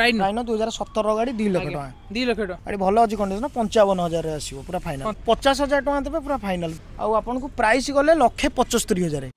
Rhino. Rhino 2017 ଗାଡ଼ି, 2 ଲକ୍ଷ ଟଙ୍କା। 2 ଲକ୍ଷ ଟଙ୍କା। ଗାଡ଼ି ଭଲ ଅଛି କଣ୍ଡିସନ, 55,000ରେ ଆସିବ ପୁରା ଫାଇନାଲ। 50,000 ଟଙ୍କା ଦେବେ, ପୁରା ଫାଇନାଲ। ଆଉ ଆପଣଙ୍କୁ ପ୍ରାଇସ୍ ଗଲେ 1,75,000।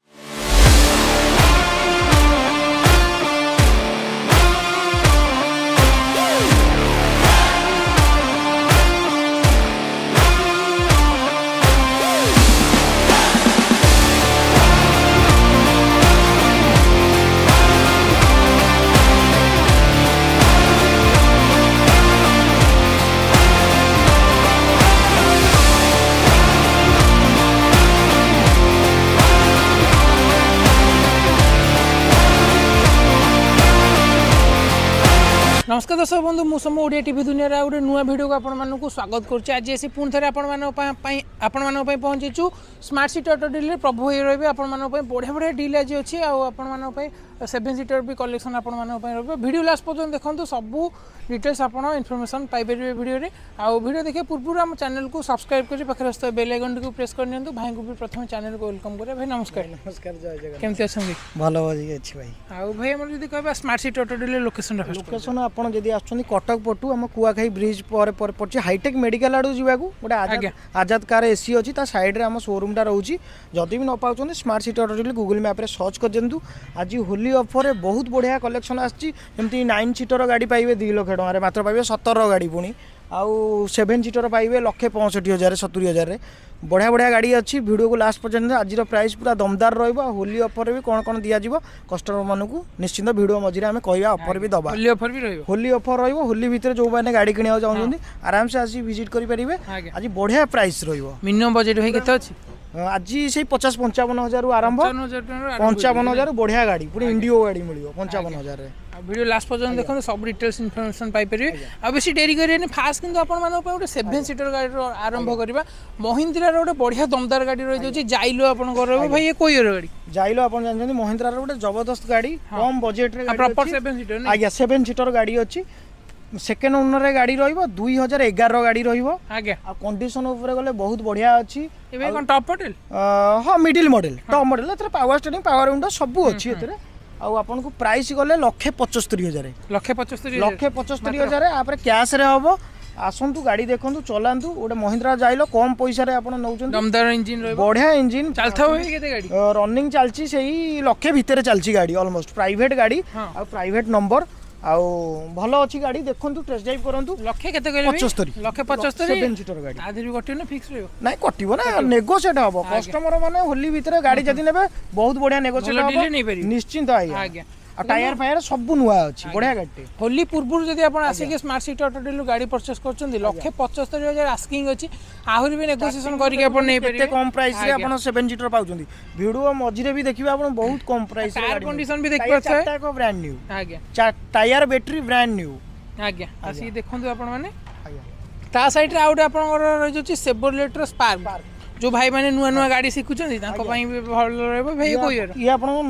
ନମସ୍କାର ଦର୍ଶକ ବନ୍ଧୁ, ମୁଁ ସମ ଓଡ଼ିଆ ଟିଭି ଦୁନିଆର ଆଉ ଗୋଟେ ନୂଆ ଭିଡ଼ିଓକୁ ଆପଣମାନଙ୍କୁ ସ୍ୱାଗତ କରୁଛି। ଆଜି ଆସି ପୁଣି ଥରେ ଆପଣମାନଙ୍କ ପାଇଁ ପହଞ୍ଚିଛୁ ସ୍ମାର୍ଟ ସିଟି ଅଟୋ ଡିଲ୍ରେ। ପ୍ରଭୁ ହୋଇ ରହିବେ ଆପଣମାନଙ୍କ ପାଇଁ। ବଢ଼ିଆ ବଢ଼ିଆ ଡିଲ୍ ଆଜି ଅଛି ଆଉ ଆପଣମାନଙ୍କ ପାଇଁ ସେଭେନ୍ ସିଟର ବି କଲେକ୍ସନ୍ ଆପଣମାନଙ୍କ ପାଇଁ ରହିବ। ଭିଡ଼ିଓ ଲାଷ୍ଟ ପର୍ଯ୍ୟନ୍ତ ଦେଖନ୍ତୁ, ସବୁ ଡିଟେଲ୍ସ ଆପଣ ଇନଫର୍ମେସନ୍ ପାଇପାରିବେ ଭିଡ଼ିଓରେ। ଆଉ ଭିଡ଼ିଓ ଦେଖିବା ପୂର୍ବରୁ ଆମ ଚ୍ୟାନେଲକୁ ସବସ୍କ୍ରାଇବ୍ କରି ପାଖରେ ଆସୁଥିବା ବେଲ୍ ଆଇକନ୍ଟିକୁ ପ୍ରେସ୍ କରିନିଅନ୍ତୁ। ଭାଇଙ୍କୁ ବି ପ୍ରଥମେ ଚ୍ୟାନେଲକୁ welcome କରିବା। ଭାଇ ନମସ୍କାର। ନମସ୍କାର, ଜୟ ଜଗନ୍ନାଥ। କେମିତି ଅଛନ୍ତି? ଭଲ ଅଛି ଭାଇ। ଆଉ ଭାଇ, ଆମର ଯଦି କହିବା ସ୍ମାର୍ଟ ସିଟି ଅଟୋ ଡିଲ୍ର ଲୋକେସନଟା ଫାଷ୍ଟ? ଲୋକେସନ, ଆପଣ ଯଦି ଆସୁଛନ୍ତି କଟକ ପଟୁ, ଆମ କୁଆଖାଇ ବ୍ରିଜ ପରେ ପରେ ପଡ଼ୁଛି। ହାଇଟେକ୍ ମେଡିକାଲ ଆଡ଼କୁ ଯିବାକୁ ଗୋଟେ ଆଜାଦ ଆଜାଦ କାର ଏସି ଅଛି, ତା ସାଇଡ଼ରେ ଆମ ସୋରୁମଟା ରହୁଛି। ଯଦି ବି ନ ପାଉଛନ୍ତି, smart city auto deal Google ମ୍ୟାପ୍ରେ ସର୍ଚ୍ଚ କରିଦିଅନ୍ତୁ। ଆଜି ହୋଲି ଅଫରରେ ବହୁତ ବଢ଼ିଆ କଲେକ୍ସନ୍ ଆସିଛି। ଯେମିତି 9 ସିଟର ଗାଡ଼ି ପାଇବେ 2 ଲକ୍ଷ ଟଙ୍କାରେ ମାତ୍ର ପାଇବେ, 17 ଗାଡ଼ି ପୁଣି। ଆଉ 7 ସିଟର ପାଇବେ 1,65,000, 70,000ରେ। ବଢ଼ିଆ ବଢ଼ିଆ ଗାଡ଼ି ଅଛି। ଭିଡ଼ିଓକୁ ଲାଷ୍ଟ ପର୍ଯ୍ୟନ୍ତ, ଆଜିର ପ୍ରାଇସ୍ ପୁରା ଦମଦାର ରହିବ। ଆଉ ହୋଲି ଅଫରରେ ବି କ'ଣ କ'ଣ ଦିଆଯିବ କଷ୍ଟମରମାନଙ୍କୁ, ନିଶ୍ଚିନ୍ତ ଭିଡ଼ିଓ ମଝିରେ ଆମେ କହିବା, ଅଫର ବି ଦେବା। ହୋଲି ଅଫର ବି ରହିବ? ହୋଲି ଅଫର ରହିବ। ହୋଲି ଭିତରେ ଯେଉଁମାନେ ଗାଡ଼ି କିଣିବାକୁ ଚାହୁଁଛନ୍ତି, ଆରାମସେ ଆସି ଭିଜିଟ୍ କରିପାରିବେ। ଆଜି ବଢ଼ିଆ ପ୍ରାଇସ୍ ରହିବ। ମିନିମମ୍ ବଜେଟ୍ ଭାଇ କେତେ ଅଛି? ଆଜି ସେଇ 50-55 ହଜାରରୁ ଆରମ୍ଭ। 55,000 ଟଙ୍କାରୁ ଆରମ୍ଭ। 55,000 ବଢ଼ିଆ ଗାଡ଼ି, ପୁଣି ଇଣ୍ଡିଗୋ ଗାଡ଼ି ମିଳିବ 55,000ରେ। ଆଉ ଭିଡ଼ିଓ ଲାଷ୍ଟ ପର୍ଯ୍ୟନ୍ତ ଦେଖନ୍ତୁ, ସବୁ ଡିଟେଲ୍ସ ଇନଫର୍ମେସନ୍ ପାଇପାରିବେ। ଆଉ ବେଶୀ ଡେରି କରିବେନି। ଫାଷ୍ଟ କିନ୍ତୁ ଆପଣମାନଙ୍କ ପାଇଁ ଗୋଟେ ସେଭେନ୍ ସିଟର ଗାଡ଼ିର ଆରମ୍ଭ କରିବା। ମହିନ୍ଦ୍ରାର ଗୋଟେ ବଢ଼ିଆ ଦମଦାର ଗାଡ଼ି ରହିଯାଉଛି, ଜାଇଲୋ ଆପଣଙ୍କର ରହିବ। ଭାଇ, ଏ କୋଉ ଇୟର ଗାଡ଼ି? ଜାଇଲୋ ଆପଣ ଜାଣିଛନ୍ତି, ମହିନ୍ଦ୍ରାର ଗୋଟେ ଜବରଦସ୍ତ ଗାଡ଼ି, କମ୍ ବଜେଟରେ। Proper seven seater? ଆଜ୍ଞା, 7 ସିଟର ଗାଡ଼ି ଅଛି। ସେକେଣ୍ଡ ଓନରରେ ଗାଡ଼ି ରହିବ, 2011ର ଗାଡ଼ି ରହିବ। ଆଉ କଣ୍ଡିସନ ଉପରେ ଗଲେ ବହୁତ ବଢ଼ିଆ ଅଛି। ଏବେ କ'ଣ ଟପ୍ ମଡେଲ? ହଁ, ମିଡିଲ୍ ମଡେଲ, ଟପ୍ ମଡେଲ। ଏଥିରେ ପାୱାର ଷ୍ଟିୟରିଂ, ପାୱାର ୱିଣ୍ଡୋ ସବୁ ଅଛି ଏଥିରେ। ଆଉ ଆପଣଙ୍କୁ ପ୍ରାଇସ୍ ଗଲେ 1,75,000। 1,75,000? 1,75,000। ତାପରେ କ୍ୟାସ୍ରେ ହବ। ଆସନ୍ତୁ, ଗାଡ଼ି ଦେଖନ୍ତୁ, ଚଲାନ୍ତୁ। ଗୋଟେ ମହିନ୍ଦ୍ରା ଜାଇଲୋ କମ୍ ପଇସାରେ ଆପଣ ନେଉଛନ୍ତି। ଦମଦାର ଇଞ୍ଜିନ୍ ରହିବ। ବଢ଼ିଆ ଇଞ୍ଜିନ୍। ଚାଲିଥିବ ଭାଇ କେତେ ଗାଡ଼ି? ରନିଂ ଚାଲିଛି ସେଇ ଲକ୍ଷେ ଭିତରେ ଚାଲିଛି ଗାଡ଼ି, ଅଲମୋଷ୍ଟ। ପ୍ରାଇଭେଟ ଗାଡ଼ି ଆଉ ପ୍ରାଇଭେଟ ନମ୍ବର, ଆଉ ଭଲ ଅଛି ଗାଡ଼ି। ଦେଖନ୍ତୁ, ଟେଷ୍ଟ ଡ୍ରାଇଭ୍ କରନ୍ତୁ। ଲକ୍ଷେ କେତେ କହିଲେ ଭାଇ? 75। 1,75,000। 7 ସିଟର ଗାଡ଼ି। ତା ଦେହରେ ବି କଟିବ ନା ଫିକ୍ସ ରହିବ? ନାଇଁ, କଟିବ ନା, ନେଗୋସିଏଟ୍ ହବ। କଷ୍ଟମର ମାନେ ହୋଲି ଭିତରେ ଗାଡ଼ି ଯଦି ନେବେ, ବହୁତ ବଢିଆ ନେଗୋସିଏଟ୍ ଭଲ ହବ। deal ରେ ନେଇପାରିବେ। ନିଶ୍ଚିନ୍ତ ଆଜ୍ଞା। ଆଉ ଟାୟାର ଫାୟାର ସବୁ ନୂଆ ଅଛି, ବଢିଆ ଗାଡ଼ିଟେ। ହୋଲି ପୂର୍ବରୁ ଯଦି ଆପଣ ଆସିକି ସ୍ମାର୍ଟ ସିଟି ଅଟୋ ଡିଲ୍ରୁ ଗାଡ଼ି ପରଚେସ୍ କରୁଛନ୍ତି, 1,75,000 ଆସ୍କିଂ ଅଛି, ଆହୁରି ବି ନେଗୋସିଏସନ୍ କରିକି ଆପଣ କେତେ ନେଇପାରିବେ। କମ୍ ପ୍ରାଇସ୍ରେ ଆପଣ 7 ସିଟର ପାଉଛନ୍ତି। ଭିଡ଼ିଓ ମଝିରେ ବି ଦେଖିବେ ଆପଣ, ବହୁତ କମ୍ ପ୍ରାଇସ୍। ଟାୟାର କଣ୍ଡିସନ ବି ଦେଖିପାରୁଥିବେ। ଚାରିଟା brand new. Tyre, battery brand new. ଆଜ୍ଞା, ଆସିକି ଦେଖନ୍ତୁ ଆପଣମାନେ। ତା ସାଇଡ଼୍ରେ ଆଉ ଗୋଟେ ଆପଣଙ୍କର ରହିଯାଉଛି ସେଭରଲେଟ୍ର ସ୍ପାର୍କ। ଯେଉଁ ଭାଇମାନେ ନୂଆ ନୂଆ ଗାଡ଼ି ଶିଖୁଛନ୍ତି, ତାଙ୍କ ପାଇଁ ବି ଭଲ ରହିବ। ଭାଇ, କୋଉ ଇୟର? ଇଏ ଆପଣଙ୍କୁ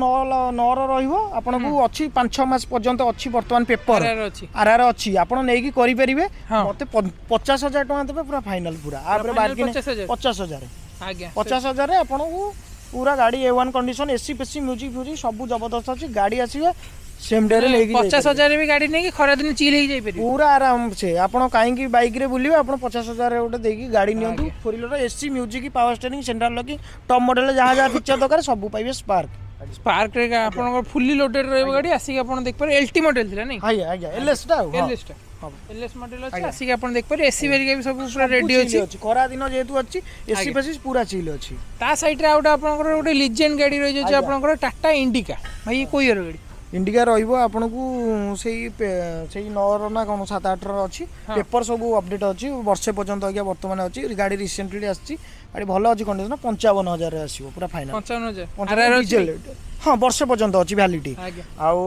9ର ରହିବ। ଆପଣଙ୍କୁ ଅଛି 5-6 ମାସ ପର୍ଯ୍ୟନ୍ତ ଅଛି ବର୍ତ୍ତମାନ ପେପର। ଆର ଅଛି? ଆର ଆର ଅଛି, ଆପଣ ନେଇକି କରିପାରିବେ। ମତେ 50,000 ଟଙ୍କା ଦେବେ, ପୁରା ଫାଇନାଲ ପୁରା। ଆପରେ final? Bargaining. 50,000? 50,000। 50,000ରେ ଆପଣଙ୍କୁ ପୁରା ଗାଡ଼ି ଏ ୱାନ୍ କଣ୍ଡିସନ, ଏସି ଫେସି, ମ୍ୟୁଜିକ୍ ଫ୍ୟୁଜିକ୍ ସବୁ ଜବରଦସ୍ତ ଅଛି। ଗାଡ଼ି ଆସିବେ, ସେମ୍ ଡେରେ ନେଇକି ପଚାଶ ଯାଇପାରିବେ। ହଜାର ବି ଗାଡ଼ି ନେଇକି ଖରାଦିନ ଚିଲ୍ ହେଇକି ଯାଇପାରିବେ। ପୁରା ଆରାମସେ। ଆପଣ କାହିଁକି ବାଇକରେ ବୁଲିବେ? ଆପଣ 50,000 ଗୋଟେ ଦେଇକି ଗାଡ଼ି ନିଅନ୍ତୁ। Four wheeler, AC, music, power steering, central locking, top model, ଯାହା ଯାହା ଫିଚର ଦରକାର ସବୁ ପାଇବେ ସ୍ପାର୍କ। ସ୍ପାର୍କରେ ଆପଣଙ୍କର ଫୁଲି ଲୋଡେଡ୍ ରହିବ ଗାଡ଼ି, ଆସିକି ଆପଣ ଦେଖିପାରିବେ। ଏଲ୍ ଟି ମଡେଲ ଥିଲା ନାଇଁ? ଆଜ୍ଞା ଆଜ୍ଞା, ଏଲ୍ ଟା ଆଉ ହଁ। ଏଲ୍ ଟା। ଏଲ୍ ଏସ୍ ମଡେଲ ଅଛି, ଆସିକି ଆପଣ ଦେଖିପାରିବେ। ଏସି ହେରିକା ବି ସବୁ ପୁରା ରେଡି ସବୁ ଅଛି। chill ଅଛି। ଖରା ଦିନ ଯେହେତୁ ଅଛି, ଏସି ଫେସି ପୁରା ଚିଲ୍ ଅଛି। ତା ସାଇଡ୍ରେ ଆଉ ଗୋଟେ ଆପଣଙ୍କର ଗୋଟେ ଲିଜେଣ୍ଡ ଗାଡ଼ି ରହିଯାଉଛି, ଆପଣଙ୍କର ଟାଟା ଇଣ୍ଡିକା। ଭାଇ, ଇଏ କୋଉ ଇୟର ଗାଡ଼ି? ଇଣ୍ଡିକା ରହିବ ଆପଣଙ୍କୁ ସେଇ 9ର ନା କ'ଣ, 7-8ର ଅଛି। ପେପର ସବୁ ଅପଡେଟ୍ ଅଛି, ବର୍ଷେ ପର୍ଯ୍ୟନ୍ତ ଆଜ୍ଞା ବର୍ତ୍ତମାନ ଅଛି। ଗାଡ଼ି ରିସେଣ୍ଟଲି ଆସିଛି, ଗାଡ଼ି ଭଲ ଅଛି କଣ୍ଡିସନ। 55,000ରେ ଆସିବ ପୁରା ଫାଇନାଲ। 55,000। ଆର ଆର ଅଛି? ଡିଜେଲ, ହଁ, ବର୍ଷେ ପର୍ଯ୍ୟନ୍ତ ଅଛି ଭ୍ୟାଲିଡିଟି। ଆଉ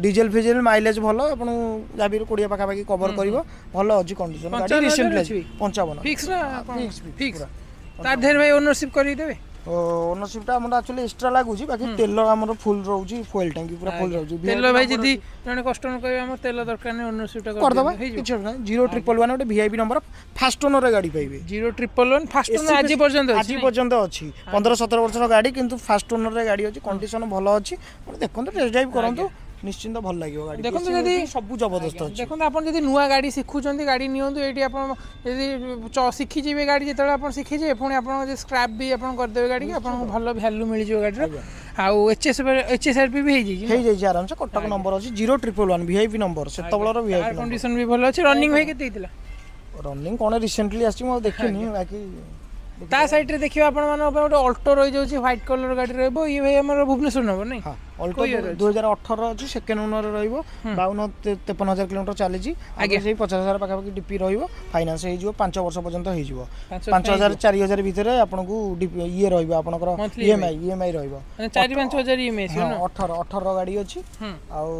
ଡିଜେଲ ଫିଜେଲ ମାଇଲେଜ ଭଲ, ଆପଣଙ୍କୁ ଯାହା ବି 20 ପାଖାପାଖି କଭର କରିବ। ଭଲ ଅଛି କଣ୍ଡିସନ ଗାଡ଼ି। 55,000 ରିସେଣ୍ଟଲି ଅଛି? 55। ଫିକ୍ସ ନା? ଫିକ୍ସ। ଫିକ୍ସ। ତା ଦେହରେ ଭାଇ ଓନରସିପ୍ କରିକି ଦେବେ? ଓନରସିପଟା ଆମର ଆକ୍ଚୁଆଲି ଏକ୍ସଟ୍ରା ଲାଗୁଛି, ବାକି ତେଲ ଆମର ଫୁଲ୍ ରହୁଛି, ଫୁଏଲ୍ ଟ୍ୟାଙ୍କି ପୁରା ଫୁଲ୍ ରହୁଛି। ତେଲ ଭାଇ, ଯଦି ଜଣେ କଷ୍ଟମର କହିବେ ଆମର ତେଲ ଦରକାର ନାହିଁ, ଓନରସିପଟା କରିଦେବା। ହେଇଯିବ? କିଛି ଅସୁବିଧା ନାହିଁ। 0111 ଗୋଟେ ଭିଆଇପି ନମ୍ବର, ଫାଷ୍ଟ ଓନର ଗାଡ଼ି ପାଇବେ। 0111, ଫାଷ୍ଟ ଓନର ଆଜି ପର୍ଯ୍ୟନ୍ତ ଅଛି? ଆଜି ପର୍ଯ୍ୟନ୍ତ ଅଛି। 15-17 ବର୍ଷର ଗାଡ଼ି, କିନ୍ତୁ ଫାଷ୍ଟ ଓନରରେ ଗାଡ଼ି ଅଛି, କଣ୍ଡିସନ ଭଲ ଅଛି। ଆପଣ ଦେଖନ୍ତୁ, ଟେଷ୍ଟ ଡ୍ରାଇଭ୍ କରନ୍ତୁ। ନିଶ୍ଚିନ୍ତ ଭଲ ଲାଗିବ ଗାଡ଼ି। ଦେଖନ୍ତୁ ଯଦି ସବୁ ଜବରଦସ୍ତ ଅଛି। ଦେଖନ୍ତୁ, ଆପଣ ଯଦି ନୂଆ ଗାଡ଼ି ଶିଖୁଛନ୍ତି, ଗାଡ଼ି ନିଅନ୍ତୁ ଏଇଠି। ଆପଣ ଯଦି ଶିଖିଯିବେ ଗାଡ଼ି, ଯେତେବେଳେ ଆପଣ ଶିଖିଯିବେ, ପୁଣି ଆପଣ ଯଦି ସ୍କ୍ରାପ୍ ବି ଆପଣ କରିଦେବେ ଗାଡ଼ିକି, ଆପଣଙ୍କୁ ଭଲ ଭ୍ୟାଲୁ ମିଳିଯିବ ଗାଡ଼ିର। ଆଉ ଏଚ୍ ଏସ୍ ଆର୍ ପି ବି ହେଇଯାଇଛି? ହେଇଯାଇଛି ଆରାମସେ। କଟକ ନମ୍ବର ଅଛି, 0111, ଭିଆଇପି ନମ୍ବର, ସେତେବେଳର ଭିଆଇପି। କଣ୍ଡିସନ ବି ଭଲ ଅଛି। ରନିଂ ଭାଇ କେତେ ହେଇଥିଲା? ରନିଂ କ'ଣ ରିସେଣ୍ଟଲି ଆସିଛି, ମୁଁ ଆଉ ଦେଖିନି ବାକି। ତା ସାଇଡ୍ରେ ଦେଖିବା ଆପଣମାନଙ୍କ ପାଇଁ ଗୋଟେ ଅଲ୍ଟୋ ରହିଯାଉଛି, ହ୍ୱାଇଟ୍ କଲର୍ ଗାଡ଼ି ରହିବ। ଇଏ ଭାଇ ଆମର ଭୁବନେଶ୍ୱର ନମ୍ବର ନାଇଁ? ହଁ, ଅଲ୍ଟୋ 2018 ଅଛି, ସେକେଣ୍ଡ ଓନର ରହିବ, 52-53 ହଜାର କିଲୋମିଟର ଚାଲିଛି। ଆଜ୍ଞା, ସେଇ 50,000 ପାଖାପାଖି ଡିପି ରହିବ। ଫାଇନାନ୍ସ ହେଇଯିବ, 5 ବର୍ଷ ପର୍ଯ୍ୟନ୍ତ ହେଇଯିବ। 5,000 4,000 ଭିତରେ ଆପଣଙ୍କୁ ଇଏ ରହିବ, ଆପଣଙ୍କର ଇଏମ୍ଆଇ ରହିବ। 4-5 ହଜାର ଇଏମ୍ଆଇ। 18ର ଗାଡ଼ି ଅଛି। ଆଉ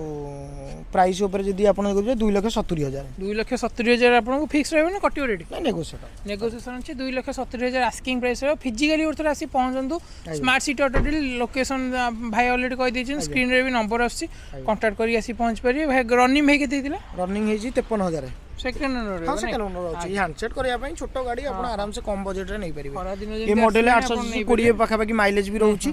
ପ୍ରାଇସ୍ ଉପରେ ଯଦି ଆପଣ ଦେଖିବେ, 2,70,000। 2,70,000 ଆପଣଙ୍କୁ ଫିକ୍ସ ରହିବ ନା କଟିବ ରେଟ୍? ନା, ନେଗୋସିଏଟ୍। ନେଗୋସିଏସନ୍ ଅଛି। 2,70,000 ଆସ୍କିଂ ପ୍ରାଇସ୍ ରହିବ। ଫିଜିକାଲି ଗୋଟେ ଥର ଆସି ପହଞ୍ଚନ୍ତୁ smart city auto deal. Location ଭାଇ ଅଲରେଡ଼ି କହିଦେଇଛନ୍ତି, ସ୍କ୍ରିନ୍ରେ ବି ନମ୍ବର ଆସୁଛି, କଣ୍ଟାକ୍ଟ କରିକି ଆସି ପହଞ୍ଚି ପାରିବେ। ଭାଇ, ରନିଂ ଭାଇ କେତେ ହେଇଥିଲା? ରନିଂ ହେଇଛି 53,000। Second owner? ହଁ, ସେକେଣ୍ଡ ଓନର ଅଛି। ହ୍ୟାଣ୍ଡସେଟ୍ କରିବା ପାଇଁ ଛୋଟ ଗାଡ଼ି, ଆପଣ ଆରାମସେ କମ୍ ବଜେଟରେ ନେଇପାରିବେ। ଏ ମଡେଲ 800, 20 ପାଖାପାଖି ମାଇଲେଜ ବି ରହୁଛି,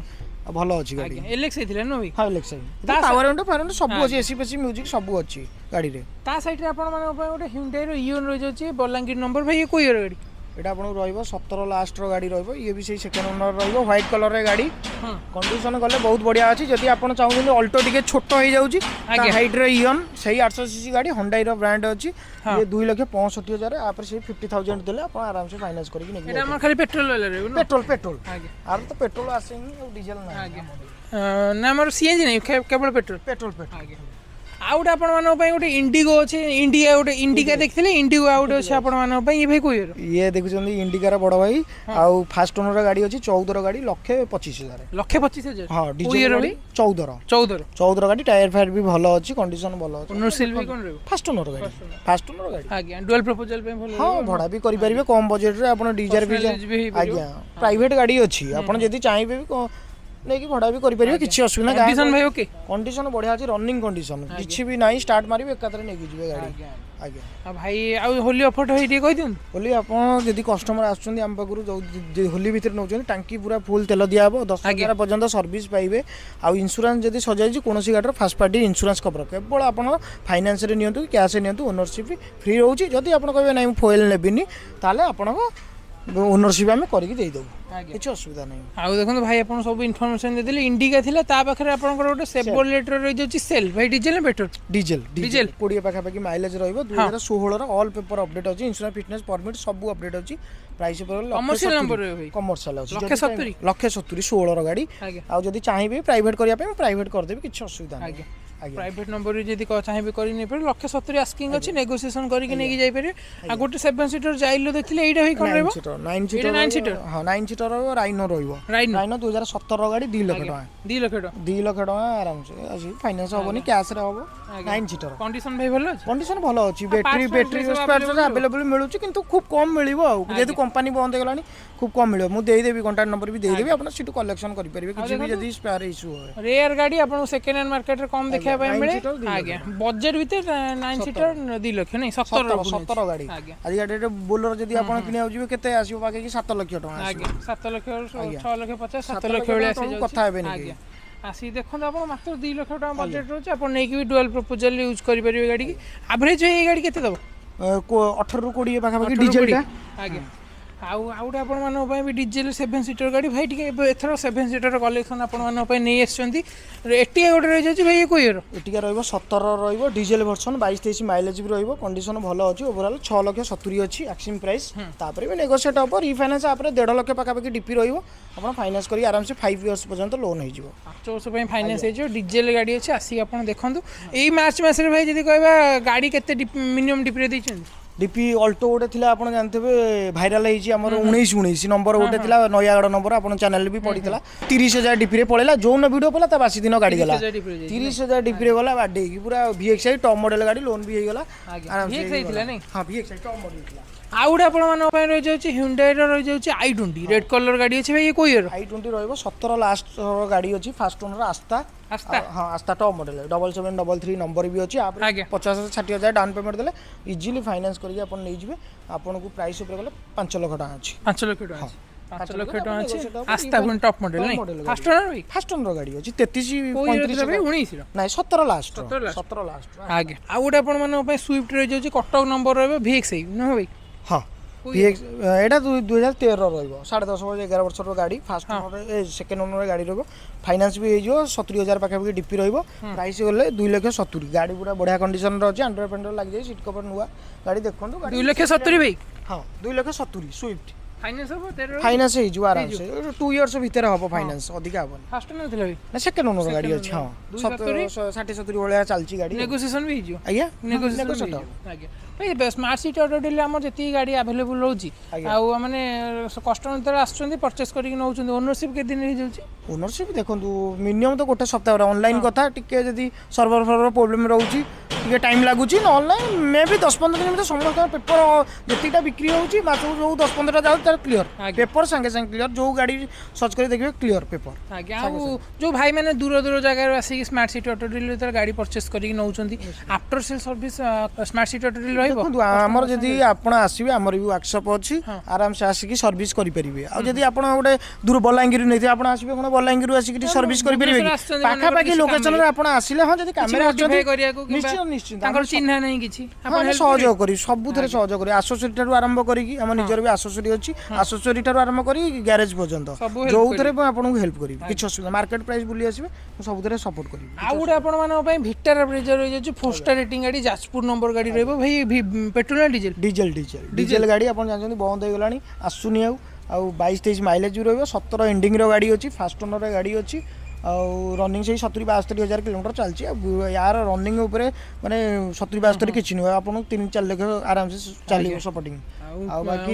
ଭଲ ଅଛି ଗାଡ଼ି। ଏଲ୍ଏକ୍ସ ହେଇଥିଲା ନା ଭାଇ? ହଁ, LX. Power window power window ସବୁ ଅଛି, ଏସି ଫେସି, ମ୍ୟୁଜିକ୍ ସବୁ ଅଛି ଗାଡ଼ିରେ। ତା ସାଇଡ୍ରେ ଆପଣମାନଙ୍କ ପାଇଁ ଗୋଟେ ହ୍ୟୁଣ୍ଡାଇର ଇଓନ୍ ରହିଯାଉଛି, ବଲାଙ୍ଗୀର ନମ୍ବର। ଭାଇ, ଇଏ କୋଉ ଇୟର ଗାଡ଼ି? ଏଇଟା ଆପଣଙ୍କୁ ରହିବ 17 ଲାଷ୍ଟର ଗାଡ଼ି ରହିବ। ଇଏ ବି ସେଇ ସେକେଣ୍ଡ ଓନର ରହିବ, ହ୍ୱାଇଟ୍ କଲର୍ର ଗାଡ଼ି। କଣ୍ଡିସନ ଗଲେ ବହୁତ ବଢ଼ିଆ ଅଛି। ଯଦି ଆପଣ ଚାହୁଁଛନ୍ତି ଅଲ୍ଟୋ ଟିକେ ଛୋଟ ହେଇଯାଉଛି, ହାଇଟ୍ର ଇଅନ୍, ସେଇ 800 ସିସି ଗାଡ଼ି, ହଣ୍ଡାଇର ବ୍ରାଣ୍ଡ ଅଛି। ଇଏ 2,65,000। ଆପରେ ସେଇ 50,000 ଦେଲେ ଆପଣ ଆରାମସେ ଫାଇନାନ୍ସ କରିକି ନେଇକି। ଖାଲି ପେଟ୍ରୋଲ? Petrol, petrol. ଆର ତ ପେଟ୍ରୋଲ ଆସେନି ଆଉ ଡିଜେଲ ନାହିଁ। ନା, ଆମର ସିଏନଜି ନାହିଁ, କେବଳ ପେଟ୍ରୋଲ। Petrol, petrol. ଆଉ ଗୋଟେ ଆପଣମାନଙ୍କ ପାଇଁ ଗୋଟେ ଇଣ୍ଡିଗୋ ଅଛି। ଇଣ୍ଡିଆ ଗୋଟେ ଇଣ୍ଡିକା ଦେଖିଥିଲେ, ଇଣ୍ଡିଗୋ ଆଉ ଗୋଟେ ଅଛି ଆପଣମାନଙ୍କ ପାଇଁ। ଇଏ ଭାଇ କୋଉ ଇୟର? ଇଏ ଦେଖୁଛନ୍ତି ଇଣ୍ଡିକାର ବଡ଼ ଭାଇ ଆଉ ଫାଷ୍ଟ ଓନର ଗାଡ଼ି ଅଛି, 14ର ଗାଡ଼ି, 1,25,000। 1,25,000? ହଁ, ଡିଜେଲ ଗାଡ଼ି, 14ର। 14ର। 14ର ଗାଡ଼ି, ଟାୟାର ଫାୟାର ବି ଭଲ ଅଛି, କଣ୍ଡିସନ ଭଲ ଅଛି। ଓନରସିପ୍ ବି କ'ଣ ରହିବ? ଫାଷ୍ଟ ଓନର ଗାଡ଼ି, ଫାଷ୍ଟ ଓନର ଗାଡ଼ି। ଆଜ୍ଞା, ଡୁଆଲ ପ୍ରପୋଜାଲ ପାଇଁ ଭଲ। ହଁ, ଭଡ଼ା ବି କରିପାରିବେ କମ୍ ବଜେଟରେ ଆପଣ ଡିଜେଲ ବି। ଆଜ୍ଞା, ପ୍ରାଇଭେଟ ଗାଡ଼ି ଅଛି। ଆପଣ ଯଦି ଚାହିଁବେ ବି ନେଇକି ଭଡ଼ା ବି କରିପାରିବେ, କିଛି ଅସୁବିଧା। କଣ୍ଡିସନ ଭାଇ ଓକେ? କଣ୍ଡିସନ ବଢ଼ିଆ ଅଛି, ରନିଂ କଣ୍ଡିସନ କିଛି ବି ନାହିଁ। ଷ୍ଟାର୍ଟ ମାରିବେ, ଏକାଥରେ ନେଇକି ଯିବେ ଗାଡ଼ି। ଆଜ୍ଞା। ଆଉ ଭାଇ, ଆଉ ହୋଲି ଅଫରଟା ଭାଇ ଟିକେ କହିଦିଅନ୍ତୁ। ହୋଲି ଆପଣ ଯଦି କଷ୍ଟମର ଆସୁଛନ୍ତି ଆମ ପାଖରୁ, ଯେଉଁ ହୋଲି ଭିତରେ ନେଉଛନ୍ତି, ଟାଙ୍କି ପୁରା ଫୁଲ୍ ତେଲ ଦିଆହେବ, 10,000 ପର୍ଯ୍ୟନ୍ତ ସର୍ଭିସ୍ ପାଇବେ। ଆଉ ଇନ୍ସୁରାନ୍ସ ଯଦି ସଜାଇଛି କୌଣସି ଗାଡ଼ିର, ଫାଷ୍ଟ ପାର୍ଟି ଇନ୍ସୁରାନ୍ସ କଭର। କେବଳ ଆପଣ ଫାଇନାନ୍ସରେ ନିଅନ୍ତୁ କି କ୍ୟାସ୍ରେ ନିଅନ୍ତୁ, ଓନରସିପ୍ ଫ୍ରି ରହୁଛି। ଯଦି ଆପଣ କହିବେ ନାଇଁ, ମୁଁ ଫୁଏଲ୍ ନେବିନି, ତାହେଲେ ଆପଣଙ୍କ ଓନରସିପ୍ ଆମେ କରିକି ଦେଇଦେବୁ, କିଛି ଅସୁବିଧା ନାହିଁ। ଆଉ ଦେଖନ୍ତୁ ଭାଇ, ଆପଣ ସବୁ ଇନଫର୍ମେସନ୍ ଦେଇଦେଲେ। ଇଣ୍ଡିକା ଥିଲା, ତା ପାଖରେ ଆପଣଙ୍କର ଗୋଟେ ସେଭରଲେଟ୍ର ରହିଯାଉଛି ସେଲ୍। ଭାଇ, ଡିଜେଲ ନା ପେଟ୍ରୋଲ? ଡିଜେଲ। ଡିଜେଲ, 20 ପାଖାପାଖି ମାଇଲେଜ ରହିବ। 2016ର, ଅଲ୍ ପେପର ଅପଡେଟ୍ ଅଛି, ଇନ୍ସୁରାନ୍ସ, ଫିଟନେସ୍, ପରମିଟ୍ ସବୁ ଅପଡେଟ୍ ଅଛି। ପ୍ରାଇସ୍ ଉପରେ କମର୍ସିଆଲ ନମ୍ବର ଭାଇ? କମର୍ସିଆଲ ଅଛି। 1,70,000? 1,70,000, 16ର ଗାଡ଼ି। ଆଉ ଯଦି ଚାହିଁବେ ପ୍ରାଇଭେଟ କରିବା ପାଇଁ, ପ୍ରାଇଭେଟ କରିଦେବି, କିଛି ଅସୁବିଧା ନାହିଁ। ପ୍ରାଇଭେଟ ନମ୍ବର ଯଦି ଚାହିଁବେ କରି ନେଇପାରିବେ। 1,70,000 ଆସ୍କିଂ ଅଛି, ନେଗୋସିଏସନ୍ କରିକି ନେଇକି ଯାଇପାରିବେ। ଆଉ ଗୋଟେ ସେଭେନ୍ ସିଟର ଜାଇଲୋ ଦେଖିଲେ, ଏଇଟା ଭାଇ କ'ଣ ରହିବ? ନାଇନ୍ ସିଟର। ନାଇନ୍ ସିଟର। ହଁ, ନାଇନ୍ ସିଟର ରହିବ, ରାଇନୋ ରହିବ। ରାଇନୋ 2017ର ଗାଡ଼ି, 2 ଲକ୍ଷ ଟଙ୍କା। 2 ଲକ୍ଷ ଟଙ୍କା? 2 ଲକ୍ଷ ଟଙ୍କା ଆରାମସେ ଅଛି। ଫାଇନାନ୍ସ ହବନି, କ୍ୟାସ୍ରେ ହବ। ନାଇନ୍ ସିଟର। କଣ୍ଡିସନ ଭାଇ ଭଲ ଅଛି? କଣ୍ଡିସନ ଭଲ ଅଛି। ବ୍ୟାଟେରୀ ଆଭେଲେବଲ୍ ମିଳୁଛି, କିନ୍ତୁ ଖୁବ୍ କମ୍ ମିଳିବ। ଆଉ ଯେହେତୁ କମ୍ପାନୀ ବନ୍ଦ ହେଇଗଲାଣି, ଖୁବ୍ କମ୍ ମିଳିବ। ମୁଁ ଦେଇଦେବି, କଣ୍ଟାକ୍ଟ ନମ୍ବର ବି ଦେଇଦେବି, ଆପଣ ସେଠୁ କଲେକ୍ସନ କରିପାରିବେ କିଛି ବି ଯଦି ସ୍ପେୟାର ଇସ୍ୟୁ ହୁଏ। ରେୟାର ଗାଡ଼ି ଆପଣଙ୍କୁ ସେକେଣ୍ଡ ହ୍ୟାଣ୍ଡ ମାର୍କେଟରେ କମ୍ ଦେଖିବା ପାଇଁ ମିଳେ। ଆଜ୍ଞା, ବଜେଟ୍ ଭିତରେ ନାଇନ୍ ସିଟର, 2 ଲକ୍ଷ ନାଇଁ, 17। 17 ଗାଡ଼ି। ଆଜି ଗାଡ଼ିରେ ବୋଲର ଯଦି ଆପଣ କିଣିବାକୁ ଯିବେ, କେତେ ଆସିବ? ପାଖାପାଖି 7 ଲକ୍ଷ ଟଙ୍କା। ଆଜ୍ଞା, 7 ଲକ୍ଷ, 6 ଲକ୍ଷ 50, 7 ଲକ୍ଷ ଭଳିଆ ଆସିବ। କଥା ହେବେନି। ଆଜ୍ଞା, ଆସିକି ଦେଖନ୍ତୁ ଆପଣ। ମାତ୍ର 2 ଲକ୍ଷ ଟଙ୍କା ବଜେଟ୍ ରହୁଛି। ଆପଣ ନେଇକି ବି ଡୁଆଲ ପ୍ରପୋଜାଲ ୟୁଜ୍ କରିପାରିବେ ଗାଡ଼ିକି। ଆଭରେଜ ଏଇ ଗାଡ଼ି କେତେ ଦେବ? 18ରୁ 20 ପାଖାପାଖି ଡିଜେଲଟା। ଆଜ୍ଞା, ଆଉ ଆଉ ଗୋଟେ ଆପଣମାନଙ୍କ ପାଇଁ ବି ଡିଜେଲ ସେଭେନ୍ ସିଟର ଗାଡ଼ି। ଭାଇ, ଟିକେ ଏବେ ଏଥର ସେଭେନ୍ ସିଟର କଲେକ୍ସନ୍ ଆପଣମାନଙ୍କ ପାଇଁ ନେଇ ଆସିଛନ୍ତି। ଏଟିକା ଗୋଟେ ରହିଯାଉଛି ଭାଇ, ଇଏ କୋଉ ଇୟର? ଏଟିକା ରହିବ 17 ରହିବ, ଡିଜେଲ ଭର୍ସନ, 22-23 ମାଇଲେଜ ବି ରହିବ। କଣ୍ଡିସନ ଭଲ ଅଛି। ଓଭରଅଲ୍ 6,70,000 ଅଛି ଆସ୍କିଂ ପ୍ରାଇସ୍, ତାପରେ ବି ନେଗୋସିଏଟ୍ ହେବ। ରିଫାଇନାନ୍ସ ଆପରେ 1.5 ଲକ୍ଷ ପାଖାପାଖି ଡିପି ରହିବ। ଆପଣ ଫାଇନାନ୍ସ କରି ଆରାମସେ 5 ଇୟର୍ସ ପର୍ଯ୍ୟନ୍ତ ଲୋନ୍ ହେଇଯିବ। 5 ବର୍ଷ ପାଇଁ ଫାଇନାନ୍ସ ହେଇଯିବ। ଡିଜେଲ ଗାଡ଼ି ଅଛି, ଆସିକି ଆପଣ ଦେଖନ୍ତୁ। ଏଇ ମାର୍ଚ୍ଚ ମାସରେ ଭାଇ ଯଦି କହିବା, ଗାଡ଼ି କେତେ ମିନିମମ୍ ଡିପିରେ ଦେଇଛନ୍ତି? ଡିପି ଅଲ୍ଟୋ ଗୋଟେ ଥିଲା, ଆପଣ ଜାଣିଥିବେ, ଭାଇରାଲ ହେଇଛି ଆମର, 19 19 ନମ୍ବର ଗୋଟେ ଥିଲା, ନୟାଗଡ଼ ନମ୍ବର, ଆପଣ ଚ୍ୟାନେଲ ବି ପଡ଼ିଥିଲା। 30,000 ଡିପିରେ ପଳେଇଲା। ଯୋଉନ ଭିଡ଼ିଓ ପଡ଼ିଲା, ତା ବାସି ଦିନ ଗାଡ଼ି ଗଲା। 30,000 ଡିପିରେ ଗଲା ବାଡେଇକି ପୁରା। ଭିଏକ୍ସଆଇ ଟପ୍ ମଡେଲ ଗାଡ଼ି, ଲୋନ୍ ବି ହେଇଗଲା। ଆରାମସେ। ହଁ, ଭିଏକ୍ସଆଇ ଟପ୍ ମଡେଲ ଥିଲା। ଆଉ ଗୋଟେ ଆପଣମାନଙ୍କ ପାଇଁ ରହିଯାଉଛି ହ୍ୟୁଣ୍ଡାଇର ରହିଯାଉଛି i20, red colour ଗାଡ଼ି ଅଛି। ଭାଇ, ଇଏ କୋଉ ଇୟର? i20 ରହିବ, 17 ଲାଷ୍ଟ ଗାଡ଼ି ଅଛି, ଫାଷ୍ଟ ଓନର, ଆସ୍ତା। ଆସ୍ତା? ହଁ, ଆସ୍ତା ଟପ୍ ମଡେଲ, 7733 ନମ୍ବର ବି ଅଛି। 50-60 ହଜାର ଡାଉନ୍ ପେମେଣ୍ଟ ଦେଲେ ଇଜିଲି ଫାଇନାନ୍ସ କରିକି ଆପଣ ନେଇଯିବେ। ଆପଣଙ୍କୁ ପ୍ରାଇସ୍ ଉପରେ ଗଲେ 5 ଲକ୍ଷ ଟଙ୍କା ଅଛି। 5 ଲକ୍ଷ ଟଙ୍କା। 5 ଲକ୍ଷ ଟଙ୍କା ଅଛି। ଆସ୍ତା ପୁଣି ଟପ୍ ମଡେଲ ନାଇଁ? ଫାଷ୍ଟ ଓନର ଭାଇ? ଫାଷ୍ଟ ଓନର ଗାଡ଼ି ଅଛି, 33 35। 19ର? ନାଇଁ, 17 ଲାଷ୍ଟ, 17 ଲାଷ୍ଟ। ଆଜ୍ଞା, ଆଉ ଗୋଟେ ଆପଣମାନଙ୍କ ପାଇଁ ସୁଇଫ୍ଟ ରହିଯାଉଛି, କଟକ ନମ୍ବର ରହିବ, ଭିଏକ୍ସ ନୁହଁ ଭାଇ? ହଁ, ଭିଏକ୍ସ। ଏଇଟା 2013 ରହିବ, 10.5 ବର୍ଷ, 11 ବର୍ଷର ଗାଡ଼ି। ଫାଷ୍ଟ ଓନର, ଏ ସେକେଣ୍ଡ ଓନର ଗାଡ଼ି ରହିବ। ଫାଇନାନ୍ସ ବି ହେଇଯିବ। 70,000 ପାଖାପାଖି ଡିପି ରହିବ। ପ୍ରାଇସ୍ ଗଲେ 2 ଲକ୍ଷ 70। ଗାଡ଼ି ପୁରା ବଢ଼ିଆ କଣ୍ଡିସନରେ ଅଛି। ଆଣ୍ଡ୍ରଏଡ଼ ଫାଣ୍ଡ୍ରଏଡ଼ ଲାଗିଯାଇଛି, ସିଟ୍ କଭର ନୂଆ। ଗାଡ଼ି ଦେଖନ୍ତୁ। 2 ଲକ୍ଷ 70 ଭାଇ? ହଁ, 2 ଲକ୍ଷ 70 ସୁଇଫ୍ଟ। ଫାଇନାନ୍ସ ହବ? ଫାଇନାନ୍ସ ହେଇଯିବ ଆରାମସେ। 2 ଇୟର୍ସ ଭିତରେ ହବ ଫାଇନାନ୍ସ, ଅଧିକା ହବନି। ଫାଷ୍ଟ ଓନର ଥିଲା ଭାଇ? ନା, ସେକେଣ୍ଡ ଓନର ଗାଡ଼ି ଅଛି। ହଁ, 60-70 ଭଳିଆ ଚାଲିଛି ଗାଡ଼ି। ନେଗୋସିଏସନ ବି ହେଇଯିବ? ଆଜ୍ଞା। ନେଗୋସିଏସନ। ଆଜ୍ଞା ଭାଇ, ସ୍ମାର୍ଟ ସିଟି ଅଟୋ ଡିଲ୍ ଆମର ଯେତିକି ଗାଡ଼ି ଆଭେଲେବୁଲ୍ ରହୁଛି, ଆଉ ମାନେ କଷ୍ଟମର ଯେତେବେଳେ ଆସୁଛନ୍ତି, ପରଚେସ୍ କରିକି ନେଉଛନ୍ତି, ଓନରସିପ୍ କେତେ ଦିନ ହେଇଯାଉଛି? ଓନରସିପ୍ ଦେଖନ୍ତୁ, ମିନିମମ୍ ତ ଗୋଟେ ସପ୍ତାହରେ। ଅନଲାଇନ୍ କଥା, ଟିକେ ଯଦି ସର୍ଭର ଫର୍ବର ପ୍ରୋବ୍ଲେମ୍ ରହୁଛି, ଟିକେ ଟାଇମ୍ ଲାଗୁଛି। ନହେଲେ ନାହିଁ, ମେ ବି 10-15 ଦିନ ଭିତରେ ସମସ୍ତଙ୍କ ପେପର ଯେତିକିଟା ବିକ୍ରି ହେଉଛି, ମାସକୁ ଯେଉଁ 10-15ଟା ଯାଉଛି, ତାର କ୍ଲିୟର ପେପର ସାଙ୍ଗେ ସାଙ୍ଗେ କ୍ଲିୟର। ଯେଉଁ ଗାଡ଼ି ସର୍ଚ୍ଚ କରି ଦେଖିବେ, କ୍ଲିୟର ପେପର। ଆଜ୍ଞା, ଆଉ ଯେଉଁ ଭାଇମାନେ ଦୂର ଦୂର ଜାଗାରୁ ଆସିକି ସ୍ମାର୍ଟ ସିଟି ଅଟୋ ଡିଲ୍ ଯେତେବେଳେ ଗାଡ଼ି ପରଚେସ୍ କରିକି ନେଉଛନ୍ତି, after sale service smart city auto deal ରହିବ? ଦେଖନ୍ତୁ, ଆମର ଯଦି ଆପଣ ଆସିବେ, ଆମର ବି ୱାର୍କସପ୍ ଅଛି, ଆରାମସେ ଆସିକି ସର୍ଭିସ୍ କରିପାରିବେ। ଆଉ ଯଦି ଆପଣ ଗୋଟେ ଦୂର ବଲାଙ୍ଗୀରରୁ ନେଇଥିବେ, ଆପଣ ଆସିବେ କ'ଣ ବଲାଙ୍ଗୀରରୁ ଆସିକି ସର୍ଭିସ୍ କରିପାରିବେ କି? ପାଖାପାଖି ଲୋକେସନରେ ଆପଣ ଆସିଲେ, ହଁ, ଯଦି କାମରେ ଆସୁଛନ୍ତି, ନିଶ୍ଚିତ ନିଶ୍ଚିତ। ତାଙ୍କର ଚିହ୍ନା ନାହିଁ କିଛି। ଆମେ ସହଯୋଗ କରିବୁ, ସବୁଥିରେ ସହଯୋଗ କରିବୁ। ଆସେସରି ଠାରୁ ଆରମ୍ଭ କରିକି, ଆମ ନିଜର ବି ଆସେସରି ଅଛି, ଆସେସରି ଠାରୁ ଆରମ୍ଭ କରି ଗ୍ୟାରେଜ ପର୍ଯ୍ୟନ୍ତ ଯୋଉଥିରେ ମୁଁ ଆପଣଙ୍କୁ ହେଲ୍ପ କରିବି। କିଛି ଅସୁବିଧା, ମାର୍କେଟ ପ୍ରାଇସ୍ ବୁଲି ଆସିବେ, ମୁଁ ସବୁଥିରେ ସପୋର୍ଟ କରିବି। ଆଉ ଗୋଟେ ଆପଣମାନଙ୍କ ପାଇଁ ଭିଟାରା ବ୍ରେଜା ରହିଯାଉଛି, ଫୋର୍ ଷ୍ଟାର ରେଟିଂ ଗାଡ଼ି, ଯାଜପୁର ନମ୍ବର ଗାଡ଼ି ରହିବ। ଭାଇ, ପେଟ୍ରୋଲ ନା ଡିଜେଲ? ଡିଜେଲ, ଡିଜେଲ, ଡିଜେଲ ଗାଡ଼ି। ଆପଣ ଜାଣିଛନ୍ତି, ବନ୍ଦ ହେଇଗଲାଣି, ଆସୁନି ଆଉ। ଆଉ 22-23 ମାଇଲେଜ ବି ରହିବ। 17 ଏଣ୍ଡିଂର ଗାଡ଼ି ଅଛି, ଫାଷ୍ଟ ଓନର ଗାଡ଼ି ଅଛି। ଆଉ ରନିଂ ସେଇ 70-72 ହଜାର କିଲୋମିଟର ଚାଲିଛି। ଆଉ ୟାର ରନିଂ ଉପରେ ମାନେ 70-72 କିଛି ନୁହେଁ, ଆପଣଙ୍କୁ 3-4 ଲକ୍ଷ ଆରାମସେ ଚାଲିବ ସପୋର୍ଟିଂ। ଆଉ ବାକି